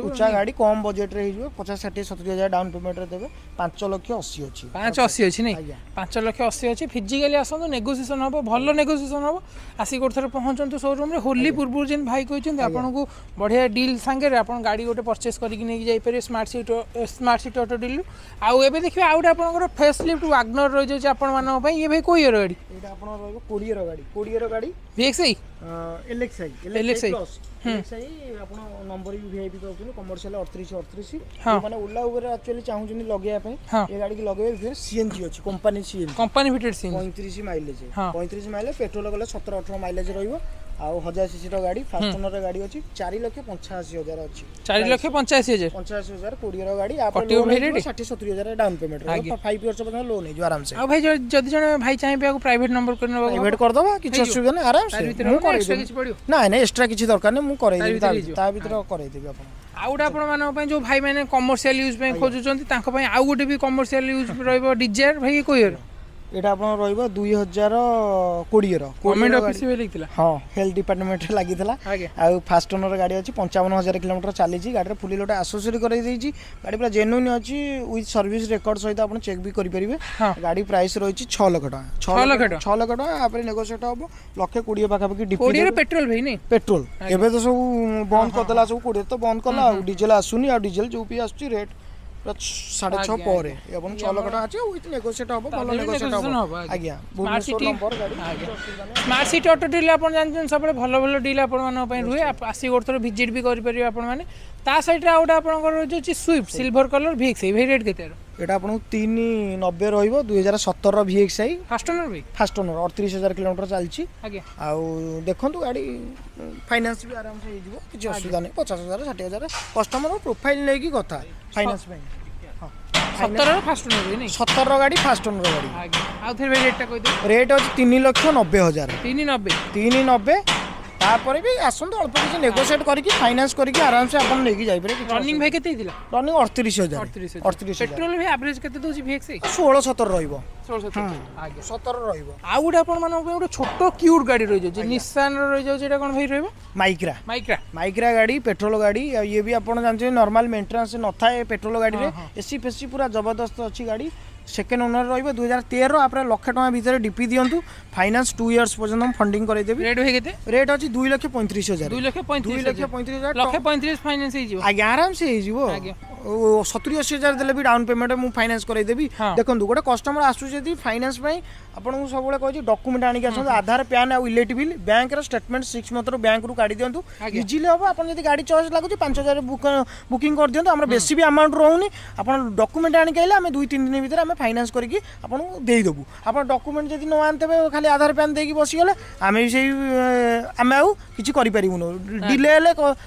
ଉଚ୍ଚା ଗାଡ଼ି କମ୍ ବଜେଟ୍ରେ ହେଇଯିବ। 50, 60, 70 ହଜାର ଡାଉନ୍ ପେମେଣ୍ଟରେ ଦେବେ। 5 ଲକ୍ଷ 80 ଅଛି। 5.80 ଅଛି ନାଇଁ? 5 ଲକ୍ଷ 80 ଅଛି। ଫିଜିକାଲି ଆସନ୍ତୁ, ନେଗୋସିଏସନ୍ ହେବ, ଭଲ ନେଗୋସିଏସନ୍ ହେବ। ଆସିକି ଗୋଟେ ଥର ପହଞ୍ଚନ୍ତୁ ସୋରୁମ୍ରେ। ହୋଲି ପୂର୍ବରୁ ଯେମିତି ଭାଇ କହିଛନ୍ତି, ଆପଣଙ୍କୁ ବଢ଼ିଆ ଡିଲ୍ ସାଙ୍ଗରେ ଆପଣ ଗାଡ଼ି ଗୋଟେ ପରଚେସ୍ କରିକି ନେଇକି ଯାଇପାରିବେ ସ୍ମାର୍ଟ ସିଟି ଅଟୋ ଡିଲ୍ରୁ। ଆଉ ଏବେ ଦେଖିବେ, ଆଉ ଗୋଟେ ଆପଣଙ୍କର ଫେସ୍ ଲିଫ୍ଟ ୱାଗନର ରହିଯାଉଛି ଆପଣମାନଙ୍କ ପାଇଁ। ଇଏ ଭାଇ କୋଉ ଇୟର ଗାଡ଼ି? ଏଇଟା ଆପଣଙ୍କର ରହିବ 20ର ଗାଡ଼ି, 20ର ଗାଡ଼ି। ଭିଏକ୍ସଆଇ? ଏଲ୍ଏକ୍ସଆଇ। ଏଲ୍ଏକ୍ସଆଇ ପ୍ଲସ୍। ଏଲ୍ଏକ୍ସଆଇ ଆପଣ ନମ୍ବର ବି ଭିଆଇପି ପାଉଛନ୍ତି, କମର୍ସିଆଲ 38 38। ମାନେ ଓଲା ଉବେର ଆକ୍ଚୁଆଲି ଚାହୁଁଛନ୍ତି ଲଗେଇବା ପାଇଁ, ଏ ଗାଡ଼ିକି ଲଗେଇବେ। ସିଏନଜି ଅଛି, company CNG. Company fitted CNG. 35 mileage, 35 mileage. Petrol ଗଲେ 17-18 ମାଇଲେଜ ରହିବ। ଆଉ 1000 ସିସିର ଗାଡ଼ି, ଫାଷ୍ଟ ଓନର ଗାଡ଼ି ଅଛି। 4,85,000 ଅଛି। 4,85,000? 85,000, 20ର ଗାଡ଼ି। 60-70 ହଜାର ଡାଉନ୍ ପେମେଣ୍ଟ ରହିବ। 5 ଇୟର୍ସ ପର୍ଯ୍ୟନ୍ତ ଲୋନ୍ ହେଇଯିବ ଆରାମସେ। ଆଉ ଭାଇ, ଯଦି ଜଣେ ଭାଇ ଚାହିଁବେ ଆକୁ ପ୍ରାଇଭେଟ ନମ୍ବର କରି ନେବାକୁ? ପ୍ରାଇଭେଟ କରିଦେବା, କିଛି ଅସୁବିଧା ନାହିଁ, ଆରାମସେ ମୁଁ କରେଇଦେବି। ନାଇଁ ନାଇଁ, ଏକ୍ସଟ୍ରା କିଛି ଦରକାର ନାହିଁ, ମୁଁ କରେଇଦେବି, ତା ଭିତରେ କରେଇଦେବି ଆପଣ। ଆଉ ଗୋଟେ ଆପଣମାନଙ୍କ ପାଇଁ, ଯେଉଁ ଭାଇମାନେ କମର୍ସିଆଲ ୟୁଜ୍ ପାଇଁ ଖୋଜୁଛନ୍ତି, ତାଙ୍କ ପାଇଁ ଆଉ ଗୋଟେ ବି କମର୍ସିଆଲ ୟୁଜ୍ ରହିବ ଡିଜାୟାର। ଭାଇ, କୋଉ ଇୟର? ଏଇଟା ଆପଣଙ୍କର ରହିବ 2020ର। ଗଭର୍ଣ୍ଣମେଣ୍ଟ ଅଫିସ ବି ଲାଗିଥିଲା? ହଁ, ହେଲ୍ଥ ଡିପାର୍ଟମେଣ୍ଟରେ ଲାଗିଥିଲା। ଆଉ ଫାଷ୍ଟ ଓନର ଗାଡ଼ି ଅଛି, 55,000 କିଲୋମିଟର ଚାଲିଛି। ଗାଡ଼ିରେ ଫୁଲି ଗୋଟେ ଆସେସରି କରାଇ ଦେଇଛି। ଗାଡ଼ି ପୁରା ଜେନୁଇନ୍ ଅଛି, ୱିଥ୍ ସର୍ଭିସ ରେକର୍ଡ ସହିତ ଆପଣ ଚେକ୍ ବି କରିପାରିବେ। ଗାଡ଼ି ପ୍ରାଇସ୍ ରହିଛି 6 ଲକ୍ଷ ଟଙ୍କା। 6 ଲକ୍ଷ ଟଙ୍କା? 6 ଲକ୍ଷ ଟଙ୍କା, ତାପରେ ନେଗୋସିଏଟ୍ ହବ। ଲକ୍ଷେ 20 ପାଖାପାଖି ଡିପି। ପେଟ୍ରୋଲ ଭାଇ ନାଇଁ? ପେଟ୍ରୋଲ। ଏବେ ତ ସବୁ ବନ୍ଦ କରିଦେଲା, ସବୁ 20 ତ ବନ୍ଦ କଲା, ଆଉ ଡିଜେଲ ଆସୁନି। ଆଉ ଡିଜେଲ ଯୋଉ ବି ଆସୁଛି, ରେଟ୍ ପୁରା 6.5 ପରେ। ଆପଣ 6 ଲକ୍ଷ ଟଙ୍କା ଅଛି, ୱିଥ୍ ନେଗୋସିଏଟ୍ ହବ, ଭଲ ନେଗୋସିଏଟ୍ ହବ ଆଜ୍ଞା। ଭୁବନେଶ୍ୱର ନମ୍ବର ଗାଡ଼ି। ସ୍ମାର୍ଟ ସିଟି ଅଟୋ ଡିଲ୍ ଆପଣ ଜାଣିଛନ୍ତି, ସବୁବେଳେ ଭଲ ଭଲ ଡିଲ୍ ଆପଣମାନଙ୍କ ପାଇଁ ରୁହେ। ଆସିକି ଗୋଟେ ଥର ଭିଜିଟ୍ ବି କରିପାରିବେ ଆପଣମାନେ। ତା ସାଇଡ଼୍ରେ ଆଉ ଗୋଟେ ଆପଣଙ୍କର ରହିଯାଉଛି ସୁଇଫ୍ଟ ସିଲଭର କଲର୍ ଭିଏକ୍ସ। ଭାଇ, ରେଟ୍ କେତେ? ଏଇଟା ଆପଣଙ୍କୁ 3.90 ରହିବ, 2017ର ଭିଏକ୍ସଆଇ। ଫାଷ୍ଟ ଓନର ଭାଇ? ଫାଷ୍ଟ ଓନର, 38,000 କିଲୋମିଟର ଚାଲିଛି। ଆଉ ଦେଖନ୍ତୁ, ଗାଡ଼ି ଫାଇନାନ୍ସ ବି ଆରାମସେ ହେଇଯିବ, କିଛି ଅସୁବିଧା ନାହିଁ। 50,000, 60,000 କଷ୍ଟମର ପ୍ରୋଫାଇଲ୍ ନେଇକି କଥା ଫାଇନାନ୍ସ ପାଇଁ। 17ର ଫାଷ୍ଟ ଓନର ନାଇଁ? 17ର ଗାଡ଼ି, ଫାଷ୍ଟ ଓନର ଗାଡ଼ି। ଆଜ୍ଞା, ଆଉ ଥରେ ଭାଇ ରେଟ୍ଟା କହିଦେବେ। ରେଟ୍ ଅଛି 3,90,000। 3.90? 3.90। ତାପରେ ବି ଆସନ୍ତୁ, ଅଳ୍ପ କିଛି ନେଗୋସିଏଟ୍ କରିକି, ଫାଇନାନ୍ସ କରିକି ଆରାମସେ ଆପଣ ନେଇକି ଯାଇପାରିବେ। ରନିଂ ଭାଇ କେତେ ହେଇଥିଲା? ରନିଂ 38,000। 38। ପେଟ୍ରୋଲ ଭାଇ ଆଭରେଜ କେତେ ଦେଉଛି ଭିଏକ୍ସ? 16-17 ରହିବ। 16-17, ଆଜ୍ଞା। 17 ରହିବ। ଆଉ ଗୋଟେ ଆପଣମାନଙ୍କ ପାଇଁ ଗୋଟେ ଛୋଟ କ୍ୟୁଟ୍ ଗାଡ଼ି ରହିଯାଉଛି, ନିଶାନର ରହିଯାଉଛି। ଏଇଟା କ'ଣ ଭାଇ ରହିବ? ମାଇକ୍ରା। ମାଇକ୍ରା। ମାଇକ୍ରା ଗାଡ଼ି, ପେଟ୍ରୋଲ ଗାଡ଼ି। ଆଉ ଇଏ ବି ଆପଣ ଜାଣିଛନ୍ତି, ନର୍ମାଲ ମେଣ୍ଟେନାନ୍ସ ନଥାଏ ପେଟ୍ରୋଲ ଗାଡ଼ିରେ। ଏସି ଫେସି ପୁରା ଜବରଦସ୍ତ ଅଛି ଗାଡ଼ି। ସେକେଣ୍ଡ ଓନର ରହିବ, 2013। ଆପଣ ଲକ୍ଷେ ଟଙ୍କା ଭିତରେ ଡିପି ଦିଅନ୍ତୁ, ଫାଇନାନ୍ସ 2 ଇୟର୍ସ ପର୍ଯ୍ୟନ୍ତ ମୁଁ ଫଣ୍ଡିଂ କରାଇଦେବି। ରେଟ୍ ଭାଇ କେତେ? ରେଟ୍ ଅଛି 2,35,000। 2 ଲକ୍ଷ 35? 2,35,000। ଲକ୍ଷେ 35 ଫାଇନାନ୍ସ ହେଇଯିବ? ଆଜ୍ଞା, ଆରାମସେ ହେଇଯିବ। 70-80 ହଜାର ଦେଲେ ବି ଡାଉନ୍ ପେମେଣ୍ଟ ମୁଁ ଫାଇନାନ୍ସ କରାଇଦେବି। ଦେଖନ୍ତୁ, ଗୋଟେ କଷ୍ଟମର ଆସୁଛି ଯଦି ଫାଇନାନ୍ସ ପାଇଁ, ଆପଣଙ୍କୁ ସବୁବେଳେ କହୁଛି ଡକୁମେଣ୍ଟ ଆଣିକି ଆସନ୍ତୁ, ଆଧାର, ପ୍ୟାନ୍ ଆଉ ଇଲେକ୍ଟ୍ରିକ୍ ବିଲ୍, ବ୍ୟାଙ୍କର ଷ୍ଟେଟମେଣ୍ଟ 6 ମନ୍ଥର ବ୍ୟାଙ୍କରୁ କାଢ଼ି ଦିଅନ୍ତୁ, ଇଜିଲି ହେବ। ଆପଣ ଯଦି ଗାଡ଼ି ଚଏସ୍ ଲାଗୁଛି, 5,000 ବୁକିଂ କରିଦିଅନ୍ତୁ। ଆମର ବେଶୀ ବି ଆମାଉଣ୍ଟ ରହୁନି। ଆପଣ ଡକୁମେଣ୍ଟ ଆଣିକି ଆଇଲେ ଆମେ 2-3 ଦିନ ଭିତରେ ଆମେ ଫାଇନାନ୍ସ କରିକି ଆପଣଙ୍କୁ ଦେଇଦେବୁ। ଆପଣ ଡକୁମେଣ୍ଟ ଯଦି ନ ଆଣିଥିବେ, ଖାଲି ଆଧାର ପ୍ୟାନ୍ ଦେଇକି ବସିଗଲେ, ଆମେ ବି ସେଇ ଆମେ ଆଉ କିଛି କରିପାରିବୁନୁ, ଡିଲେ ହେଲେ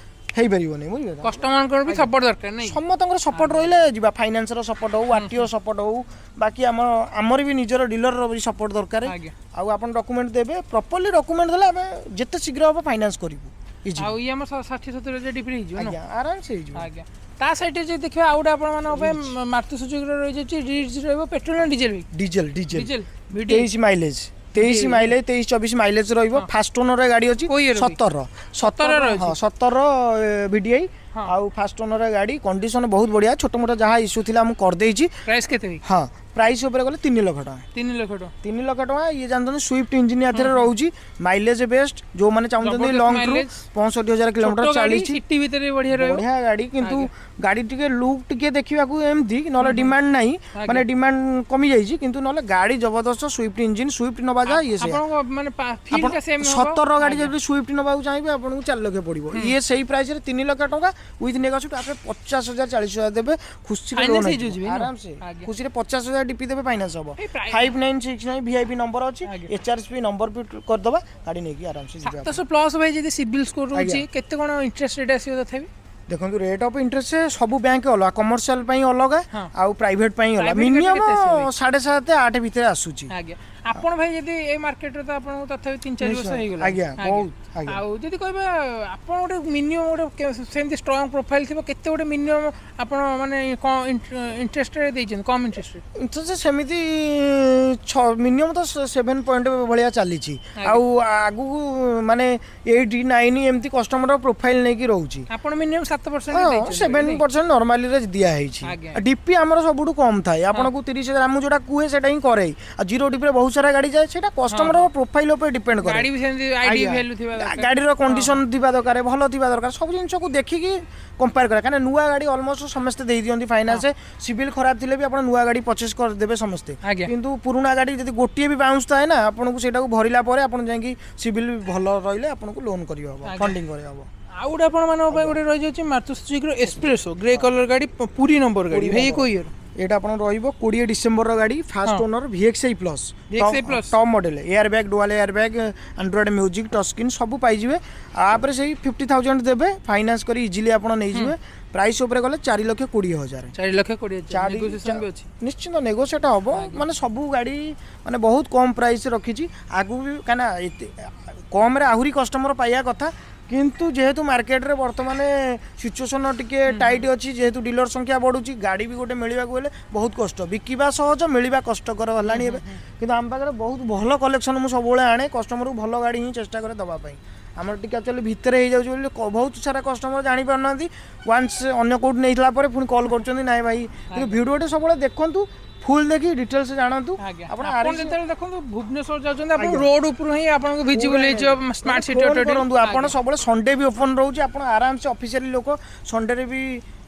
ହେଇପାରିବନି, ବୁଝିଲେ? କଷ୍ଟମରଙ୍କର ବି ସପୋର୍ଟ ଦରକାର ନାଇଁ? ସମସ୍ତଙ୍କର ସପୋର୍ଟ ରହିଲେ ଯିବା। ଫାଇନାନ୍ସର ସପୋର୍ଟ ହଉ, ଆରଟିଓ ସପୋର୍ଟ ହଉ, ବାକି ଆମର ବି ନିଜର ଡିଲରର ବି ସପୋର୍ଟ ଦରକାର। ଆଉ ଆପଣ ଡକୁମେଣ୍ଟ ଦେବେ, ପ୍ରପରଲି ଡକୁମେଣ୍ଟ ଦେଲେ ଆମେ ଯେତେ ଶୀଘ୍ର ହେବ ଫାଇନାନ୍ସ କରିବୁ ଇଜି। ଆଉ ଇଏ ଆମର 60-70 ହଜାର ଡିପି ହେଇଯିବ? ଆଜ୍ଞା, ଆରାମସେ ହେଇଯିବ। ଆଜ୍ଞା, ତା ସାଇଡ଼ରେ ଯଦି ଦେଖିବା, ଆଉ ଗୋଟେ ଆପଣମାନଙ୍କ ପାଇଁ ମାରୁତି ସୁଜୁକିର ରହିଯାଉଛି ରିଟ୍ଜ ରହିବ। ପେଟ୍ରୋଲ ନା diesel? Diesel, diesel. Diesel. 23 mileage, 23 mileage, 23-24 mileage ରହିବ। ଫାଷ୍ଟ ଓନର ଗାଡ଼ି ଅଛି। କୋଉ year? 17, 17। ରହିଛି? ହଁ, 17 ଭିଡିଆଇ। ଆଉ ଫାଷ୍ଟ ଓନର ଗାଡ଼ି, କଣ୍ଡିସନ ବହୁତ ବଢ଼ିଆ। ଛୋଟ ମୋଟ ଯାହା ଇସ୍ୟୁ ଥିଲା ମୁଁ କରିଦେଇଛି। ପ୍ରାଇସ୍ କେତେ ଭାଇ? ହଁ, ପ୍ରାଇସ୍ ଉପରେ ଗଲେ 3 ଲକ୍ଷ ଟଙ୍କା। 3 ଲକ୍ଷ ଟଙ୍କା? 3 ଲକ୍ଷ ଟଙ୍କା। ଇଏ ଜାଣିଛନ୍ତି, ସୁଇଫ୍ଟ ଇଞ୍ଜିନ୍ ଏଥିରେ ରହୁଛି, ମାଇଲେଜ ବେଷ୍ଟ। ଯୋଉମାନେ ଚାହୁଁଛନ୍ତି ଜବରଦସ୍ତ ଲଙ୍ଗ ଟୁର୍, mileage। 65,000 kilometre ଛୋଟ ଗାଡ଼ି, ଚାଲିଛି। ସିଟି ଭିତରେ ବଢିଆ ରହିବ। ବଢିଆ ଗାଡ଼ି। କିନ୍ତୁ ଗାଡ଼ି ଟିକେ ଲୁକ୍ ଟିକେ ଦେଖିବାକୁ ଏମିତି, ନହେଲେ ଡିମାଣ୍ଡ ନାହିଁ, ମାନେ ଡିମାଣ୍ଡ କମି ଯାଇଛି। କିନ୍ତୁ ନହେଲେ ଗାଡ଼ି ଜବରଦସ୍ତ। ସୁଇଫ୍ଟ ଇଞ୍ଜିନ୍, ସୁଇଫ୍ଟ ନବା ଯାହା ଇଏ ସେଇଆ। ଆପଣଙ୍କ ମାନେ ଆପଣ ଫିଲ୍ଟା ସେମ୍? 17 ଗାଡ଼ି ଯଦି ସୁଇଫ୍ଟ ନେବାକୁ ଚାହିଁବେ, ଆପଣଙ୍କୁ 4 ଲକ୍ଷ ପଡ଼ିବ। ଇଏ ସେଇ ପ୍ରାଇସରେ 3 ଲକ୍ଷ ଟଙ୍କା ୱିଥ୍ ନେଗୋସିଏଟ୍। ଆପଣ 50,000, 40,000 ଦେବେ, ଖୁସିରେ Finance loan ହେଇଯିବ ବି, ନା? ଆରାମସେ। ଖୁସିରେ 50,000 ଡିପି ଦେବେ, ଫାଇନାନ୍ସ ହବ। ଏଇ ପ୍ରାଇ- 5969 ଭିଆଇପି ନମ୍ବର ଅଛି। ଏଚଆରପି ନମ୍ବର ବି କରିଦେବା, ଗାଡ଼ି ନେଇକି ଆରାମସେ ଯିବେ ଆପଣ। 700 ପ୍ଲସ୍ ଭାଇ ଯଦି ସିବିଲ୍ ସ୍କୋର ରହୁଛି, କେତେ କ'ଣ ଇଣ୍ଟରେଷ୍ଟ ରେଟ୍ ଆସିବ ତଥାପି? ଦେଖନ୍ତୁ, ରେଟ୍ ଅଫ୍ ଇଣ୍ଟରେଷ୍ଟ ସବୁ ବ୍ୟାଙ୍କ ଅଲଗା, କମର୍ସିଆଲ ପାଇଁ ଅଲଗା ଆଉ ପ୍ରାଇଭେଟ ପାଇଁ ଅଲଗା। Private minimum କେତେ ଆସିବ ଭାଇ? 7.5-8 ଭିତରେ ଆସୁଛି। ଆଜ୍ଞା, ଆପଣ ଭାଇ ଯଦି ଏଇ ମାର୍କେଟରେ ତ ଆପଣଙ୍କୁ ତଥାପି 3-4 ବର୍ଷ ହେଇଗଲା। ଆଜ୍ଞା, ବହୁତ, ଆଜ୍ଞା। ଆଉ ଯଦି କହିବା, ଆପଣ ଗୋଟେ ମିନିମମ୍ ଗୋଟେ ସେମିତି ଷ୍ଟ୍ରଙ୍ଗ ପ୍ରୋଫାଇଲ୍ ଥିବ, କେତେ ଗୋଟେ ମିନିମମ୍ ଆପଣ ମାନେ କ'ଣ ଇଣ୍ଟରେଷ୍ଟରେ ଦେଇଛନ୍ତି, କମ୍ ଇଣ୍ଟରେଷ୍ଟରେ? ଇଣ୍ଟରେଷ୍ଟ ସେମିତି 6, ମିନିମମ୍ ତ 7 ପଏଣ୍ଟ ଭଳିଆ ଚାଲିଛି। ଆଉ ଆଗକୁ ମାନେ 8, 9 ଏମିତି କଷ୍ଟମର ପ୍ରୋଫାଇଲ୍ ନେଇକି ରହୁଛି। ଆପଣ ମିନିମମ୍ 7% ହଁ, ଦେଇଛନ୍ତି? 7% ନର୍ମାଲିରେ ଦିଆହେଇଛି। ଡିପି ଆମର ସବୁଠୁ କମ୍ ଥାଏ। ଆପଣଙ୍କୁ 30,000, ମୁଁ ଯୋଉଟା କୁହେ ସେଇଟା ହିଁ କରେ। ଆଉ ଜିରୋ ଡିପିରେ ବହୁତ ସାରା ଗାଡ଼ି ଯାଏ, ସେଇଟା କଷ୍ଟମର ପ୍ରୋଫାଇଲ୍ ଉପରେ ଡିପେଣ୍ଡ କରେ। ଗାଡ଼ି ବି ସେମିତି ଆଇଡି ଭ୍ୟାଲୁ ଥିବା ଦରକାର। ଗାଡ଼ିର କଣ୍ଡିସନ ଥିବା ଦରକାର, ଭଲ ଥିବା ଦରକାର। ସବୁ ଜିନିଷକୁ ଦେଖିକି କମ୍ପେୟାର କରେ। କାହିଁକିନା ନୂଆ ଗାଡ଼ି ଅଲମୋଷ୍ଟ ସମସ୍ତେ ଦେଇ ଦିଅନ୍ତି ଫାଇନାନ୍ସ। ସିବିଲ୍ ଖରାପ ଥିଲେ ବି ଆପଣ ନୂଆ ଗାଡ଼ି ପରଚେସ୍ କରିଦେବେ ସମସ୍ତେ। କିନ୍ତୁ ପୁରୁଣା ଗାଡ଼ି ଯଦି ଗୋଟିଏ ବି ବାଉନ୍ସ ଥାଏ ନା, ଆପଣଙ୍କୁ ସେଇଟାକୁ ଭରିଲା ପରେ ଆପଣ ଯାଇକି ସିବିଲ୍ ଭଲ ରହିଲେ ଆପଣଙ୍କୁ ଲୋନ୍ କରିହେବ, ଫଣ୍ଡିଂ କରିହେବ। ଆଉ ଗୋଟେ ଆପଣମାନଙ୍କ ପାଇଁ ଗୋଟେ ରହିଯାଉଛି ମାରୁତି ସୁଜୁକିର ଏସ୍ପ୍ରେସୋ, ଗ୍ରେ କଲର ଗାଡ଼ି, ପୁରୀ ନମ୍ବର ଗାଡ଼ି। ଭାଇ, କୋଉ ଇୟର? ଏଇଟା ଆପଣ ରହିବ 20 ଡିସେମ୍ବରର ଗାଡ଼ି, first owner, VXI plus. VXI plus। Top model, air bag, dual air bag, Android music, touch screen ସବୁ ପାଇଯିବେ। ତାପରେ ସେଇ 50,000 ଦେବେ, ଫାଇନାନ୍ସ କରି ଇଜିଲି ଆପଣ ନେଇଯିବେ। ପ୍ରାଇସ୍ ଉପରେ ଗଲେ 4,20,000। 4,20,000। ନେଗୋସିଏସନ୍ ବି ଅଛି? ନିଶ୍ଚିନ୍ତ ନେଗୋସିଏଟ୍ ହବ। ମାନେ ସବୁ ଗାଡ଼ି ମାନେ ବହୁତ କମ୍ ପ୍ରାଇସ୍ ରଖିଛି ଆଗକୁ ବି, କାହିଁକିନା ଏତେ କମ୍ରେ ଆହୁରି କଷ୍ଟମର ପାଇବା କଥା। କିନ୍ତୁ ଯେହେତୁ ମାର୍କେଟରେ ବର୍ତ୍ତମାନ ସିଚୁଏସନ୍ ଟିକେ ଟାଇଟ୍ ଅଛି, ଯେହେତୁ ଡିଲର ସଂଖ୍ୟା ବଢ଼ୁଛି, ଗାଡ଼ି ବି ଗୋଟେ ମିଳିବାକୁ ହେଲେ ବହୁତ କଷ୍ଟ। ବିକିବା ସହଜ, ମିଳିବା କଷ୍ଟକର ହେଲାଣି ଏବେ। କିନ୍ତୁ ଆମ ପାଖରେ ବହୁତ ଭଲ କଲେକ୍ସନ୍ ମୁଁ ସବୁବେଳେ ଆଣେ, କଷ୍ଟମରକୁ ଭଲ ଗାଡ଼ି ହିଁ ଚେଷ୍ଟା କରେ ଦେବା ପାଇଁ। ଆମର ଟିକେ ଆକ୍ଚୁଆଲି ଭିତରେ ହେଇଯାଉଛି ବୋଲି ବହୁତ ସାରା କଷ୍ଟମର ଜାଣିପାରୁନାହାନ୍ତି। ୱାନ୍ସ ଅନ୍ୟ କେଉଁଠି ନେଇଥିଲା ପରେ ପୁଣି କଲ୍ କରୁଛନ୍ତି, ନାଇଁ ଭାଇ। କିନ୍ତୁ ଭିଡ଼ିଓଟି ସବୁବେଳେ ଦେଖନ୍ତୁ, ଫୁଲ୍ ଦେଖି ଡିଟେଲ୍ସ ଜାଣନ୍ତୁ। ଆପଣ ଆପଣ ଆରଏକ୍ସ ଯେତେବେଳେ ଦେଖନ୍ତୁ ଭୁବନେଶ୍ୱର ଯାଉଛନ୍ତି, ଆପଣ ରୋଡ ଉପରୁ ହିଁ ଆପଣଙ୍କୁ ଭିଜିବଲ୍ ହେଇଯିବ ସ୍ମାର୍ଟ ସିଟି ଫୋନ୍ ଅଟୋ। କରନ୍ତୁ ଆପଣ ସବୁବେଳେ। ସଣ୍ଡେ ବି ଓପନ୍ ରହୁଛି, ଆପଣ ଆରାମସେ ଅଫିସିଆଲି ଲୋକ, ସଣ୍ଡେରେ ବି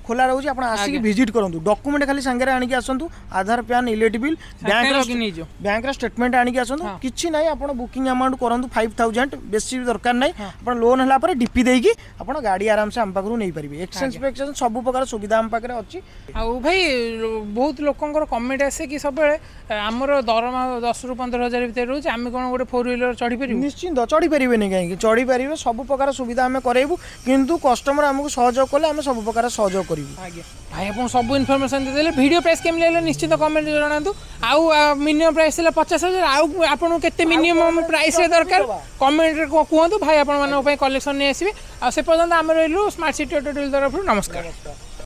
ଖୋଲା ରହୁଛି। ଆପଣ ଆସିକି ଭିଜିଟ୍ କରନ୍ତୁ। ଡକୁମେଣ୍ଟ ଖାଲି ସାଙ୍ଗରେ ଆଣିକି ଆସନ୍ତୁ, ଆଧାର, ପ୍ୟାନ୍, ଇଲେକ୍ଟ୍ରିକ୍ ବିଲ୍, ବ୍ୟାଙ୍କର ଲଗିନ୍ ହେଇଯିବ। ବ୍ୟାଙ୍କର ଷ୍ଟେଟମେଣ୍ଟ ଆଣିକି ଆସନ୍ତୁ। କିଛି ନାହିଁ, ଆପଣ ବୁକିଂ ଆମାଉଣ୍ଟ କରନ୍ତୁ 5,000, ବେଶୀ ବି ଦରକାର ନାହିଁ। ଆପଣ ଲୋନ୍ ହେଲା ପରେ ଡିପି ଦେଇକି ଆପଣ ଗାଡ଼ି ଆରାମସେ ଆମ ପାଖରୁ ନେଇପାରିବେ। ଏକ୍ସଚେଞ୍ଜ ଫେକ୍ସଚେଞ୍ଜ ସବୁ ପ୍ରକାର ସୁବିଧା ଆମ ପାଖରେ ଅଛି। ଆଉ ଭାଇ, ବହୁତ ଲୋକଙ୍କର କମେଣ୍ଟ ଆସେ କି ସବୁବେଳେ ଆମର ଦରମା 10ରୁ 15 ହଜାର ଭିତରେ ରହୁଛି, ଆମେ କ'ଣ ଗୋଟେ ଫୋର୍ ହ୍ୱିଲର ଚଢ଼ିପାରିବୁ? ନିଶ୍ଚିନ୍ତ ଚଢ଼ିପାରିବେନି କାହିଁକି? ଚଢ଼ିପାରିବେ। ସବୁ ପ୍ରକାର ସୁବିଧା ଆମେ କରାଇବୁ। କିନ୍ତୁ କଷ୍ଟମର ଆମକୁ ସହଯୋଗ କଲେ ଆମେ ସବୁ ପ୍ରକାର ସହଯୋଗ କରିବୁ। ଆଜ୍ଞା ଭାଇ, ଆପଣ ସବୁ ଇନଫର୍ମେସନ୍ ଦେଇଦେଲେ। ଭିଡ଼ିଓ ପ୍ରାଇସ୍ କେମିତି ଲାଗିଲା ନିଶ୍ଚିତ କମେଣ୍ଟ ଜଣାନ୍ତୁ। ଆଉ ମିନିମମ୍ ପ୍ରାଇସ୍ ଥିଲା 50,000। ଆଉ ଆପଣଙ୍କୁ କେତେ ମିନିମମ୍ ପ୍ରାଇସ୍ରେ ଦରକାର, କମେଣ୍ଟରେ କୁହନ୍ତୁ। ଭାଇ ଆପଣମାନଙ୍କ ପାଇଁ କଲେକ୍ସନ୍ ନେଇ ଆସିବେ। ଆଉ ସେ ପର୍ଯ୍ୟନ୍ତ ଆମେ ରହିଲୁ ସ୍ମାର୍ଟ ସିଟି ଅଟୋ ଡିଲ୍ ତରଫରୁ। ନମସ୍କାର। ନମସ୍କାର।